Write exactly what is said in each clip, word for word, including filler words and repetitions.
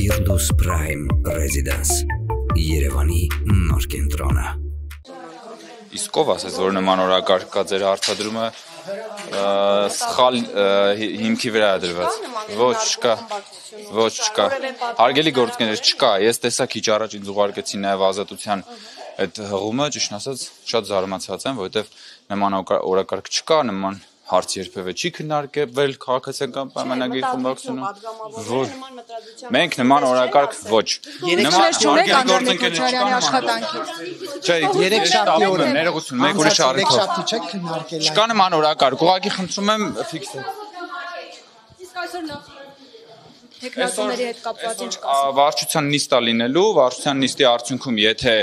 Firdus Prime Residence Երևանի նոր կենտրոնը Իսկ ով ասես, որ նման օրակարգ կա ձեր արտադրումը սխալ հիմքի վրա է դրված։ Ոչ, չկա։ Ոչ, չկա։ Հարգելի գործընկերներ, չկա։ Ես տեսա քիչ առաջ ինձ ուղարկեցին նաև ազատության այդ հղումը, ճիշտ ասած, շատ զարմացած եմ, որովհետև նման օրակարգ չկա, նման հարց երբևէ չի քննարկվել քաղաքացիական պայմանագրի խմբակցությունում։ Ոչ։ Մենք նման օրակարգ ոչ։ Նման գործընկերների աշխատանքից։ Չէ, երեք շաբթի օրը ներողություն, մեկ ուրիշ առիթով։ Չեք քննարկել։ Չկա նման օրակարգ, ուղղակի խնդրում եմ ֆիքսել։ Իսկ այսօր նախ տեխնացիների հետ կապված ինչ կասեք։ Վարչության նիստ է լինելու, վարչության նիստի արդյունքում եթե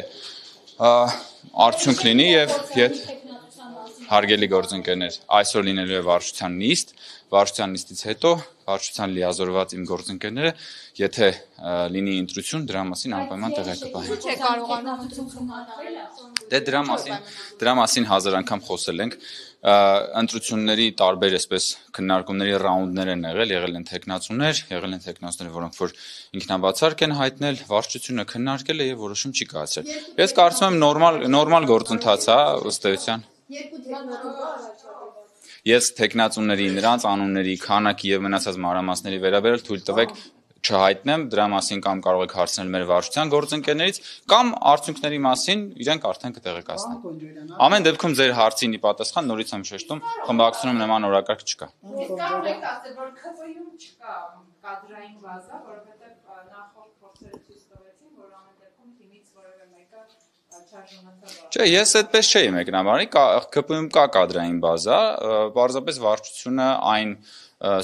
արդյունք լինի եւ եթե Հարգելի գործընկերներ, այսօր լինելու է վարչության նիստ, վարչության նիստից հետո վարչության լիազորված իմ գործընկերները, եթե լինի ընտրություն, դրա մասին անպայման տեղյակ կպահեն։ Չէ կարողանում։ Դե դրա մասին, դրա մասին հազար անգամ խոսել ենք, ընտրությունների տարբեր այսպես քննարկումների ռաունդներ են եղել, եղել են տեխնացուներ, եղել են տեխնացուներ, որոնք որ ինքնաբացարկ են հայտնել, վարչությունը քննարկել է եւ որոշում չի կայացրել։ Ես կարծում եմ նորմալ նորմալ գործընթաց է ըստ էության։ Ես տեխնացուների, նրանց անունների, քանակի եւ մնացած մանրամասների վերաբերյալ թույլ տվեք չհայտնեմ, դրա մասին կամ կարող եք հարցնել մեր վարչության գործընկերներից կամ արդյունքների մասին իրենք արդեն կտեղեկացնեն։ Ամեն դեպքում ձեր հարցին ի պատասխան նորից եմ շեշտում, խմբակցությունում նման օրակարգ չկա։ Ես կարող եք ասել, որ ՔՊ-ում չկա կադրային բազա, որովհետեւ նախորդ փորձերը ցույց տվեցին, որ ամեն դեպքում թիմից որևէ մեկը Չէ, ես այդպես չէի մեկնաբանի, ՔՊ-ում կա կադրային բազա, պարզապես վարչությունը այն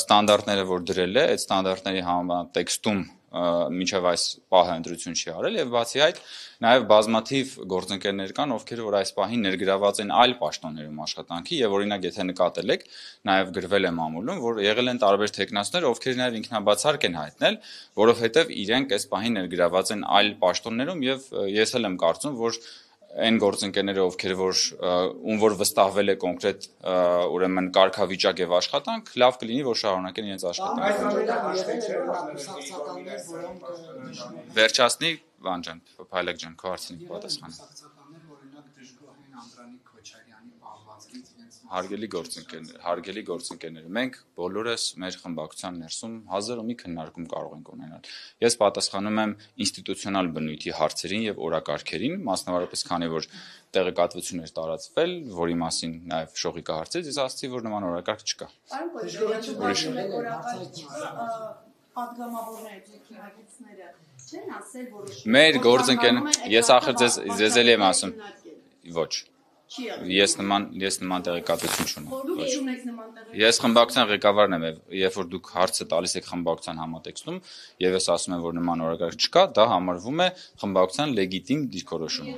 ստանդարտները, որ դրել է, այդ ստանդարտների համաձայն տեքստում մինչև այս պահը ընտրություն չի արել եւ բացի այդ նաեւ բազմաթիվ գործընկերներ կան, ովքեր որ այս պահին ներգրաված են այլ պաշտոններում աշխատանքի եւ օրինակ եթե նկատել եք, նաեւ գրվել է մամուլում, որ եղել են տարբեր տեխնացուներ, ովքեր նաեւ ինքնաբացարկ են հայտնել, որովհետեւ իրենք այս պահին ներգրաված են այլ պաշտոններում եւ ես էլ եմ կարծում, որ այն գործընկերները, ովքեր որ ում որ վստահվել է կոնկրետ ուրեմն կարգավիճակ եւ աշխատանք, լավ կլինի որ շարունակեն իրենց աշխատանքը։ Վերջացնի, Վան ջան, Փայլակ ջան, քո հարցին պատասխանը։ Հարգելի գործընկերներ, հարգելի գործընկերներ, մենք բոլորս մեր խմբակցության ներսում հազար ու մի քննարկում կարող ենք ունենալ։ Ես պատասխանում եմ ինստիտուցիոնալ բնույթի հարցերին եւ օրակարգերին, մասնավորապես քանի որ տեղեկատվություն էր տարածվել, որի մասին նաեւ Շողիկը հարցրեց, ես ասացի, որ նման օրակարգ չկա։ Պատգամավորները, թեկնագետները չեն ասել, որ Մեր գործընկերներ, ես ախր ձեզ ձեզ էլ եմ ասում։ Ոչ։ Ես նման ես նման տեղեկատվություն չունեմ։ Ես խմբակցության ղեկավարն եմ, երբ որ դուք հարցը տալիս եք խմբակցության համատեքստում, եւ ես ասում եմ, որ նման օրակարգ չկա, դա համարվում է խմբակցության լեգիտիմ դիրքորոշումը։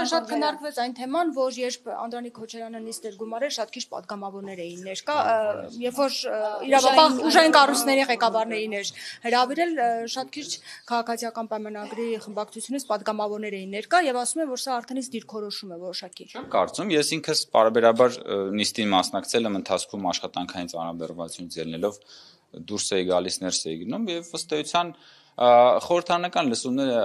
Շատ քննարկվեց այն թեման, որ երբ Անդրանիկ Քոչարյանը նիստեր գումարել, շատ քիչ պատգամավորներ էին ներկա, երբ որ իրավապահ ուժային կառույցների ղեկավարներին էր հրավիրել, շատ քիչ քաղաքացիական պայմանագրի խմբակցությունից պատգամավորներ էին ներկա եւ ասում են, որ սա արդեն իսկ դիրքորոշում է որոշակի։ Չեմ կարծում, ես ինքս բարբերաբար նիստին մասնակցել եմ ընթացքում աշխատանքային ծանրաբեռնվածությունից ելնելով դուրս էի գալիս, ներս էի գնում եւ ըստ էության խորհրդարանական լսումները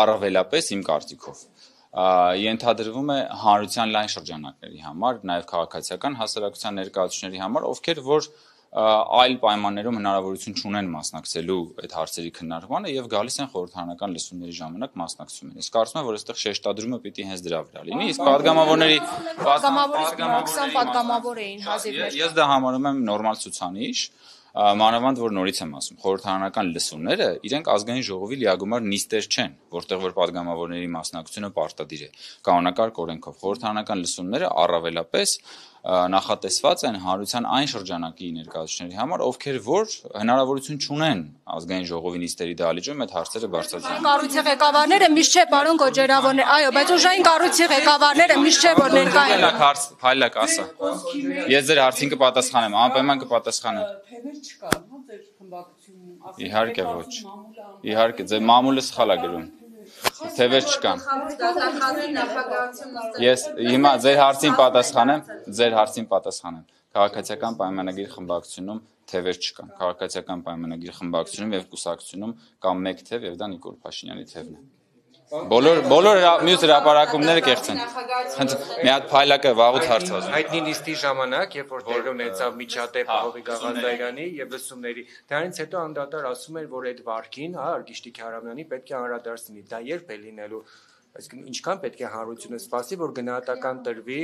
առավելապես իմ կարծիքով ենթադրվում է հանրության լայն շրջանակների համար, նաև քաղաքացիական հասարակության ներկայացուցիչների համար, ովքեր որ այլ պայմաններում հնարավորություն չունեն մասնակցելու այդ հարցերի քննարկմանը եւ գալիս են խորհրդարանական լսումների ժամանակ մասնակցում են։ Ես կարծում եմ, որ այստեղ շեշտադրումը պիտի հենց դրա վրա լինի, իսկ падգամավորների պատգամավորից պատգամավոր էին հազիվներ։ Ես դա համարում եմ նորմալ ցուցանիշ, մանավանդ որ նորից եմ ասում, խորհրդարանական լսումները իրենք ազգային ժողովի լիագումար նիստեր չեն, որտեղ որ падգամավորների մասնակցությունը պարտադիր է։ Կանոնակարգ օրենքով խորհրդարանական լսումները առավելապես նախատեսված են հանրության այն շրջանակի ներկայացուցիչների համար, ովքեր որ հնարավորություն չունեն ազգային ժողովի նիստերի դահլիճում այդ հարցերը բարձրացնել։ Կառույցի ղեկավարները միշտ չէ, պարոն Գոջերավորներ, այո, բայց ուժային կառույցի ղեկավարները միշտ չէ որ ներկա են։ Փայլակ հարց, փայլակ ասա։ Ես ձեր հարցին կպատասխանեմ, անպայման կպատասխանեմ։ Թեվեր չկան, հա, ձեր խմբակցությունում։ Իհարկե ոչ։ Իհարկե, ձեր մամուլը սխալ է գրում։ թևեր չկան։ Ես հիմա ձեր հարցին պատասխանեմ, ձեր հարցին պատասխանեմ։ Քաղաքացիական պայմանագիր խմբակցությունում թևեր չկան։ Քաղաքացիական պայմանագիր խմբակցությունում եւ կուսակցությունում կա մեկ թև եւ դա Նիկոլ Փաշինյանի թևն է։ Բոլոր բոլոր մյուս հրապարակումները կեղծ են։ Մի հատ փայլակը վաղուց հարցված։ Հայտնի նիստի ժամանակ, երբ որ դեր ունեցավ միջադեպ Հովիկ Աղազարյանի եւ լսումների, դրանից հետո անդադար ասում էր, որ այդ վարկին, հա, Արգիշտի Քարամյանի պետք է անդրադարձ լինի։ Դա երբ է լինելու։ Այսինքն ինչքան պետք է հանրությունը սպասի, որ գնահատական տրվի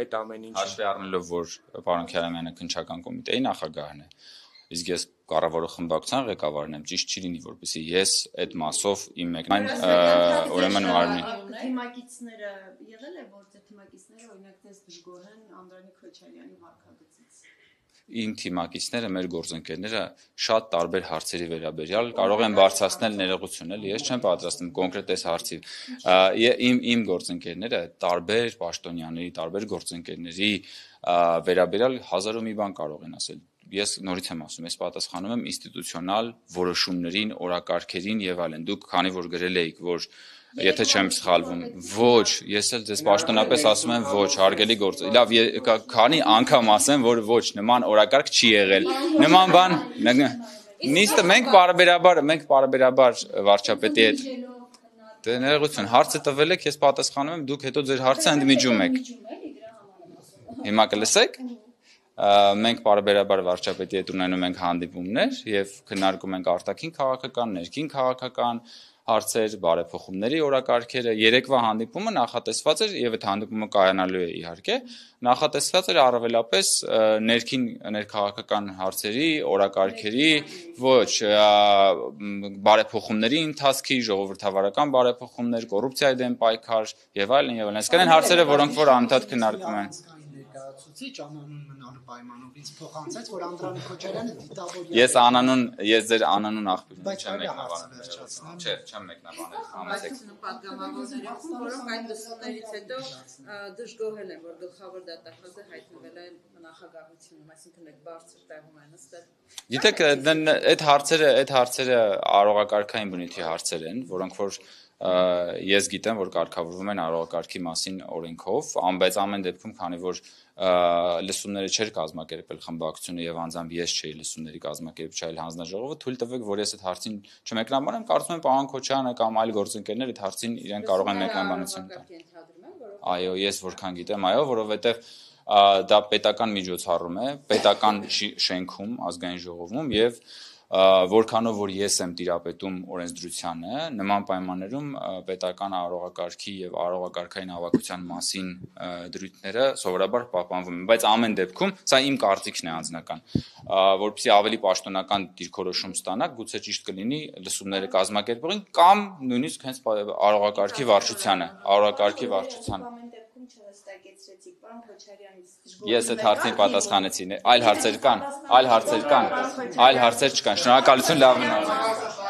այդ ամեն ինչը։ Հաշվի առնելով, որ պարոն Քարամյանը քննչական կոմիտեի նախագահն է, իսկ ես կառավարող խմբակցության ղեկավարն եմ, ճիշտ չի լինի, որպեսզի ես այդ մասով իմ մեկնային ուրեմն մարմնի։ Թիմակիցները եղել է, որ ձեր թիմակիցները օրինակ դες դժգոհ են Անդրանիկ Քոչարյանի վարքագծից։ Իմ թիմակիցները, մեր գործընկերները շատ տարբեր հարցերի վերաբերյալ կարող են բարձրացնել ներողություն, էլի, ես չեմ պատրաստում կոնկրետ այս հարցի։ Իմ իմ գործընկերները տարբեր պաշտոնյաների, տարբեր գործընկերների վերաբերյալ հազար ու մի բան կարող են ասել։ Ես նորից եմ ասում, ես պատասխանում եմ ինստիտուցիոնալ որոշումներին, օրակարգերին եւ այլն։ Դուք քանի որ գրել եք, որ եթե չեմ սխալվում, ոչ, ես էլ ձեզ պաշտոնապես ասում եմ ոչ, հարգելի գործ։ Լավ, քանի անգամ ասեմ, որ ոչ, նման օրակարգ չի եղել։ Նման բան նիստը մենք բարբերաբար, մենք բարբերաբար վարչապետի հետ դե ներողություն, հարցը տվել եք, ես պատասխանում եմ, դուք հետո ձեր հարցը ընդմիջում եք։ Հիմա կլսեք։ Մենք բարբերաբար վարչապետի հետ ունենում ենք հանդիպումներ եւ քննարկում ենք արտաքին քաղաքական, ներքին քաղաքական հարցեր, բարեփոխումների օրակարգերը։ Երեկվա հանդիպումը նախատեսված էր եւ այդ հանդիպումը կայանալու է իհարկե, նախատեսված էր առավելապես ներքին ներքաղաքական հարցերի, օրակարգերի, ոչ բարեփոխումների ընթացքի, ժողովրդավարական բարեփոխումներ, կոռուպցիայի դեմ պայքար եւ այլն եւ այլն։ Այսինքն այն հարցերը, որոնք որ անընդհատ քննարկվում են։ Ցուցիչ անանուն մնալու պայմանով ինձ փոխանցեց, որ Անդրանիկ Քոչարյանը դիտավորյալ։ Ես անանուն, ես ձեր անանուն աղբյուրն չեմ մեկնաբանել։ Չէ, չեմ մեկնաբանել։ Համեցեք։ Պատգամավորներով, որոնք այդ լսումներից հետո դժգոհել են, որ գլխավոր դատախազը հայտնվել է նախագահությունում, այսինքն այդ բարձր տեղում են նստել։ Գիտեք, այդ հարցերը, այդ հարցերը արողակարգային բնույթի հարցեր են, որոնք որ ես գիտեմ, որ կարգավորվում են արողակարգի մասին օրենքով, բայց ամեն դեպքում, քանի որ լսումները չէր կազմակերպել խմբակցությունը եւ անձամբ ես չէի լսումների կազմակերպչայել հանձնաժողովը, թույլ տվեք, որ ես այդ հարցին չմեկնաբանեմ, կարծում եմ պարոն Քոչարյանը կամ այլ գործընկերներ այդ հարցին իրեն կարող են մեկնաբանություն տալ։ Այո, ես որքան գիտեմ, այո, որովհետեւ դա պետական միջոցառում է, պետական շենքում, ազգային ժողովում եւ որքանով որ ես եմ տիրապետում օրենսդրությանը, նման պայմաններում պետական արարողակարգի եւ արարողակարգային հավաքության մասին դրույթները սովորաբար պահպանվում են, բայց ամեն դեպքում սա իմ կարծիքն է անձնական, որպեսզի ավելի պաշտոնական դիրքորոշում ստանաք, գուցե ճիշտ կլինի լսումները կազմակերպողին կամ նույնիսկ հենց արարողակարգի վարչությանը, արարողակարգի վարչությանը։ Ես այդ հարցին պատասխանեցի, այլ հարցեր կան, այլ հարցեր կան, այլ հարցեր չկան, շնորհակալություն, լավ մնացեք։